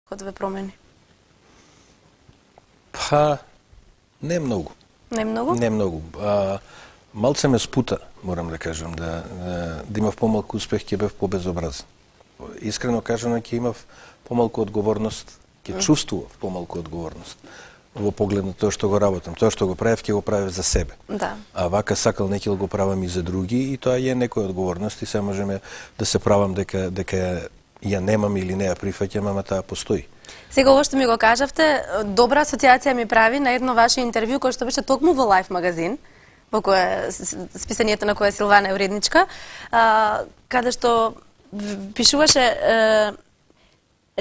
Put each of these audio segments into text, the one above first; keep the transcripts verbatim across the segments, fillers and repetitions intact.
код ве промени? Па, не многу. Не многу? Не многу. А, малце ме спута, морам да кажам, да, да, да имав помалку успех, ќе бев побезобразен. Искрено кажано, ќе имав помалку одговорност, ќе чувствував помалку одговорност во поглед на тоа што го работам. Тоа што го правев, ќе го правев за себе. Да. А вака сакал не ќе го правам и за други, и тоа е некоја одговорност и се можеме да се правам дека дека ја немам или не ја прифаќам, ама таа постои. Сега ово што ми го кажавте, добра асоциација ми прави на едно ваше интервју кој што беше токму во Лайф магазин, во кое списанието на која Силвана е уредничка, а, каде што пишуваше е,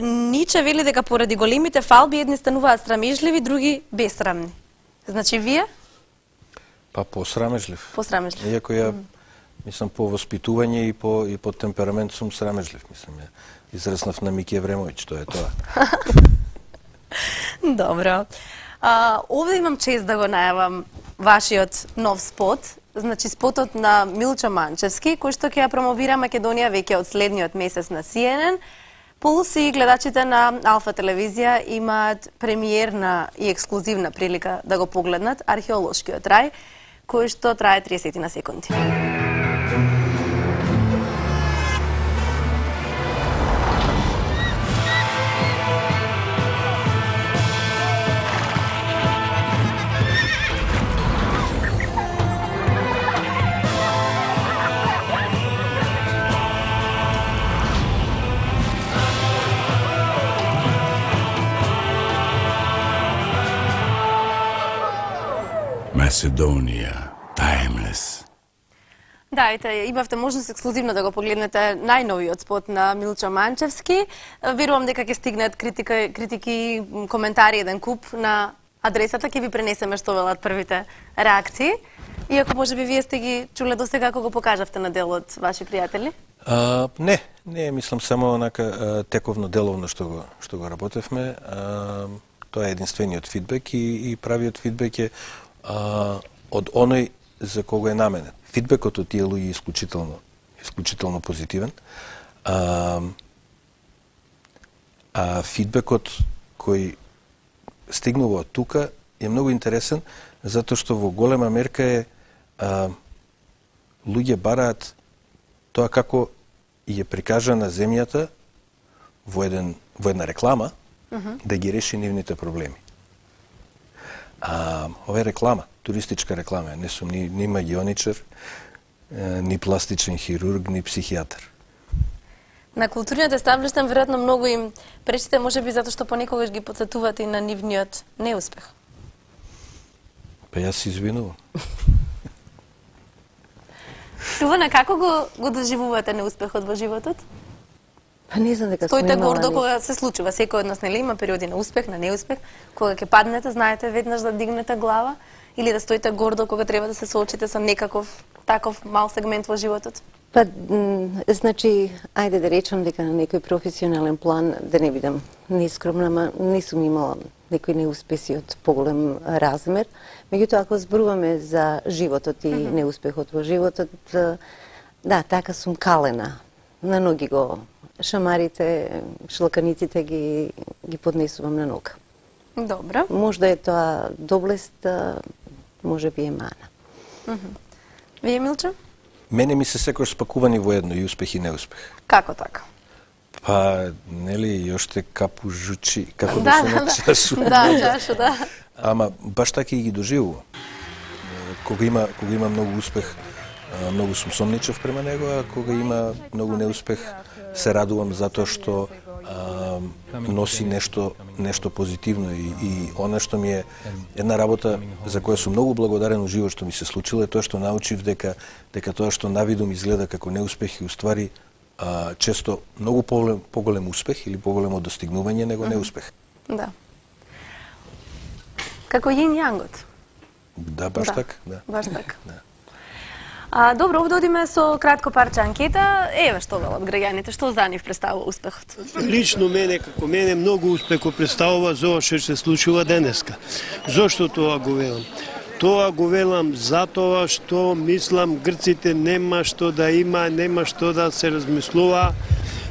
Ниче вели дека поради големите фалби едни стануваат срамежливи, други бесрамни. Значи вие? Па посрамежлив. Посрамежлив. Иако ја, мислам, по воспитување и по, и по темперамент сум срамежлив. Мислам, ја израснав на Мики Евремовиќ, тоа е тоа. Добро. А, овде имам чест да го најавам вашиот нов спот. Значи спотот на Милчо Манчевски, кој што ќе ја промовира Македонија веќе од следниот месец на Си Ен Ен. Пулс и гледачите на Алфа телевизија имаат премиерна и ексклузивна прилика да го погледнат археолошкиот рај, кој што трае триесет на секунди. Macedonija, timeless. Да, ете, имавте можност ексклузивно да го погледнете најновиот спот на Милчо Манчевски. Верувам дека ќе стигнат критика, критики, коментари, еден куп на адресата, ќе ви пренесеме што велат првите реакции. Иако можеби вие сте ги чуле до сега кога го покажавте на дел од ваши пријатели? А, не, не, мислам само онака тековно деловно што го што го работевме. А, тоа е единствениот фидбек и, и правиот фидбек е а, од оној за кого е наменет. Фидбекот од тие луѓе е исклучително, исклучително позитивен. А, а фидбекот кој стигнува од тука е многу интересен, затоа што во голема мерка е а, луѓе бараат тоа како ја прикажана земјата во еден во една реклама uh -huh. да ги реши нивните проблеми. А ова е реклама, туристичка реклама, не сум ни, ни магионичар, ни пластичен хирург, ни психијатар. На културниот естаблишмент веројатно многу им пречите, можеби затоа што понекогаш ги потсетувате и на нивниот неуспех. Па јас се извинувам. Силвана, како го, го доживувате неуспехот во животот? Па не знам дека сме Стоите имала гордо ни... кога се случува. Секој од нас нели има периоди на успех, на неуспех, кога ќе паднете, знаете веднаш да дигнете глава, или да стоите гордо кога треба да се соочите со некаков таков мал сегмент во животот? Па, значи, ајде да речам дека на некој професионален план, да не бидам нескромна, ама не сум имала некои неуспеси од поголем размер. Меѓутоа, ако зборуваме за животот и mm -hmm. неуспехот во животот, да, така сум калена. На ноги го шамарите, шлаканиците ги, ги поднесувам на нога. Добро. Можда е тоа доблест, може би е мана. Mm -hmm. Вие, Милчо? Мене ми се секој спакувани во едно, и успех и неуспех. Како така? Па, нели, јоште капу жучи, како да, да се на чашу. Да, чашу, да. Ама баш така и ги доживувам. Кога има, кога има многу успех, многу сум сомничав према него, а кога има многу неуспех, се радувам затоа што а, носи нешто нешто позитивно и, и она што ми е една работа за која сум многу благодарен у живот што ми се случило е тоа што научив дека дека тоа што навидум изгледа како неуспех и уствари а, често многу поголем, поголем успех или поголемо достигнување него неуспех. Да. Како јин јангот. Да, баш да. така, да. Баш така. Да. А, добро, овде одиме со кратко парче анкета. Еве што велат граѓаните, што за нив представува успехот? Лично мене, како мене, многу успех го представува за ова што се случува денеска. Зошто тоа го велам? Тоа го велам затоа што мислам грците нема што да има, нема што да се размислува.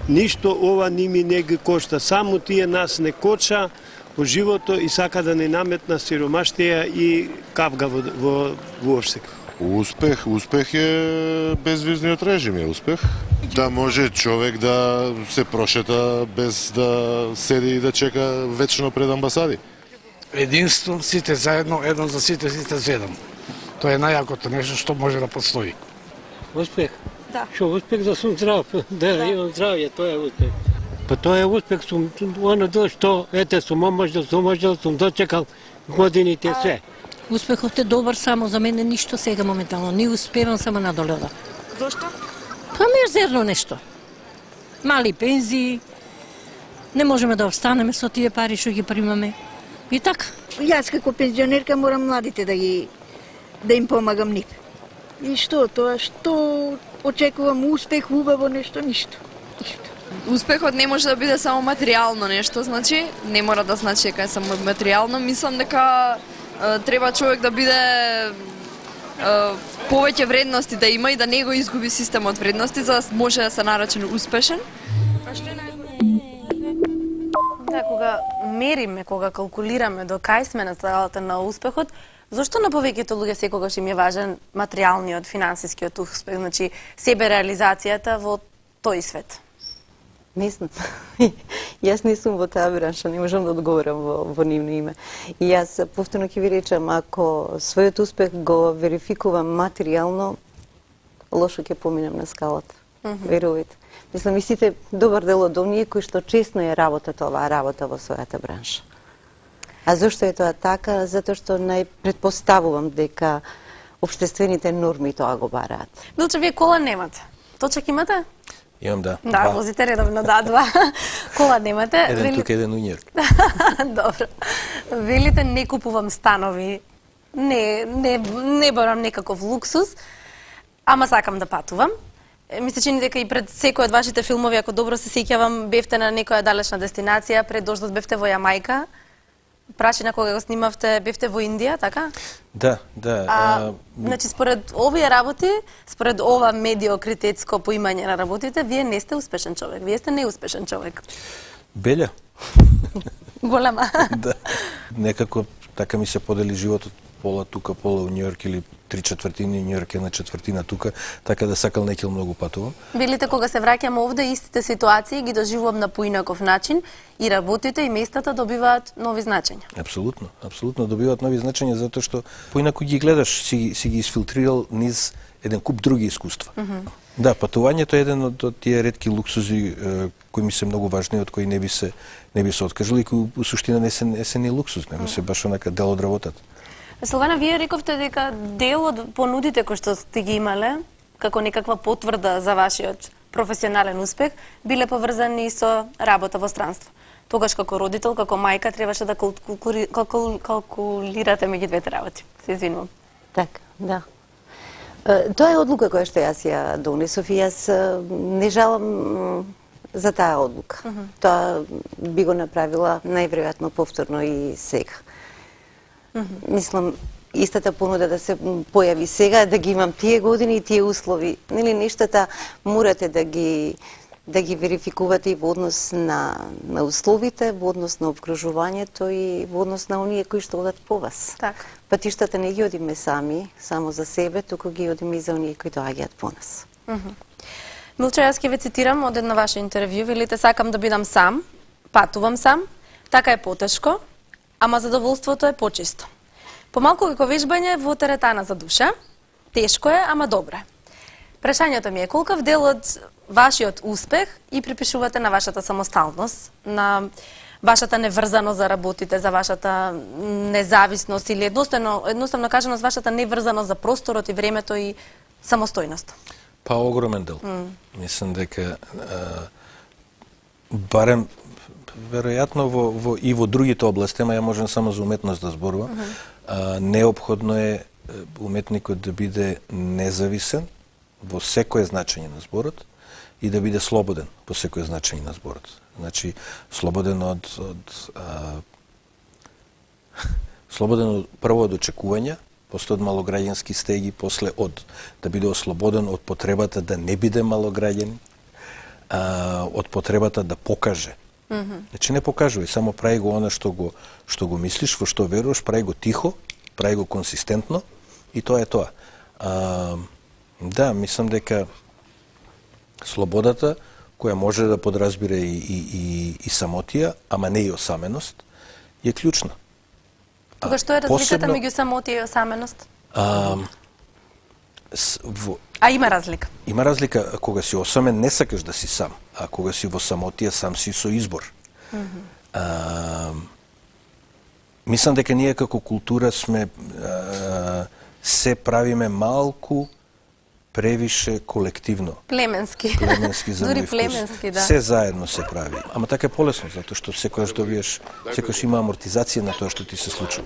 ништо ова ними не ги кошта, само тие нас не коча во живото и сака да не наметна сиромаштија и кавга во, во, во Орсек. Успех, успех е безвизниот режим е успех. Да може човек да се прошета без да седи и да чека вечно пред амбасади. Единство, сите заедно, едно за сите, сите за еден. Тоа е најакото нешто што може да постои. Успех? Да. Шо, успех да сум здрав, да, да. Имам здравје, тоа е успех. Па тоа е успех, сум, оно до што, ете, сум омаждал, сум омаждал, сум дочекал годините све. Успехот е добар, само за мене ништо сега моментално. Не успевам само надоле. Зошто? Па мизерно нешто. Мали пензии, не можеме да обстанеме со тие пари што ги примаме. И така. Јас како пензионерка морам младите да ги да им помагам нив. И што тоа, што очекувам успех, убаво нешто, ништо. Ништо. Успехот не може да биде само материјално нешто, значи, не мора да значи дека е само материјално. Мислам дека е, треба човек да биде е, повеќе вредности да има и да не го изгуби системот вредности за да може да се наречен успешен. Да, кога мериме, кога калкулираме до кај сме на скалата на успехот, зошто на повеќето луѓе секогаш им е важен материјалниот, финансискиот успех, значи себе реализацијата во тој свет? Не знам. Јас не сум во таа бранша, не можам да одговорам во, во нивно име. И јас повторно ќе ви речам, ако својот успех го верификувам материјално, лошо ќе поминам на скалата. Mm -hmm. Верувајте. Мислам, и сите добар дел од оние кои што честно е работат оваа работа во својата бранша. А зошто е тоа така? Затоа што најпретпоставувам дека општествените норми тоа го бараат. Милче, вие кола немате? Точак имате? Имам, да. Да, два. возите редовно, да, два. Кола немате. Еден Вели... тук, еден у Њујорк. Добро. Велите, не купувам станови, не, не, не барам некаков луксус, ама сакам да патувам. Ми се чини дека и пред секој од вашите филмови, ако добро се сеќавам, бевте на некоја далечна дестинација, пред дождот бевте во Јамајка, прашина кога го снимавте, бевте во Индија, така? Да, да. А, а... Значи, според овие работи, според ова медиокритетско поимање на работите, вие не сте успешен човек, вие сте неуспешен човек. Белја. Голема. Да. Некако така ми се подели животот, пола тука, пола у Њујорк или три четвртини Њујорк, една четвртина тука, така да сакал некил многу патувам. Велите, кога се враќам овде, истите ситуации ги доживувам на поинаков начин и работите и местата добиваат нови значења. Апсолутно, апсолутно добиваат нови значења затоа што поинаку ги гледаш, си, си ги изфилтрирал низ еден куп други искуства. Mm -hmm. Да, патувањето е еден од, од тие ретки луксузи е, кои ми се многу важни, од кои не би се не би се откажал и кои у суштина не се не се ни луксуз, него се баш онака дел од работата. Силвана, вие рековте дека дел од понудите кои што сте ги имале, како некаква потврда за вашиот професионален успех, биле поврзани со работа во странство. Тогаш како родител, како мајка, требаше да калкули, калкул, калкулирате меѓу двете работи. Се извинувам. Така, да. Тоа е одлука која што јас ја донесов и јас не жалам за таа одлука. Uh -huh. Тоа би го направила најверојатно повторно и сега. Uh -huh. Мислам, истата понуда да се појави сега, да ги имам тие години и тие услови. Нели, нештата морате да ги да ги верификувате и во однос на, на условите, во однос на обкружувањето и во однос на оние кои што одат по вас. Така. Патиштата не ги одиме сами, само за себе, туку ги одиме и за оние кои доаѓаат по нас. Uh -huh. Милче, јас ќе ве цитирам од една ваше интервју. Велите, сакам да бидам сам, патувам сам, така е потешко, ама задоволството е почисто. Помалку како вежбање во теретана за душа, тешко е, ама добро е. Прашањето ми е колкав дел од вашиот успех и припишувате на вашата самосталност, на вашата неврзаност за работите, за вашата независност или едноставно, едноставно кажано, вашата неврзаност за просторот и времето и самостојност? Па огромен дел. Mm. Мислам дека а, барем веројатно во, во и во другите области, ама ја можам само за уметност да зборувам. Mm -hmm. а, неопходно е уметникот да биде независен во секое значење на зборот и да биде слободен по секое значење на зборот. Значи, слободен од, од а, слободен од, прво од очекувања, после од малограѓански стеги, после од да биде ослободен од потребата да не биде малограѓан, а, од потребата да покаже. Mm -hmm. Значи не покажувај, само прави го она што го што го мислиш, во што веруваш, прави го тихо, прави го консистентно и тоа е тоа. А, да, мислам дека слободата која може да подразбира и, и, и, и самотија, ама не и осаменост, е клучна. Тога што е разликата меѓу самотија и осаменост? А, с, во, а има разлика? Има разлика. Кога си осамен, не сакаш да си сам. А кога си во самотија, сам си со избор. Mm -hmm. а, мислам дека ние како култура сме а, се правиме малку превише колективно. Племенски. Племенски за Дури мој вкус. племенски, да. Се заедно се прави. Ама така е полесно, затоа што секојаш добиеш, секојаш има амортизација на тоа што ти се случува.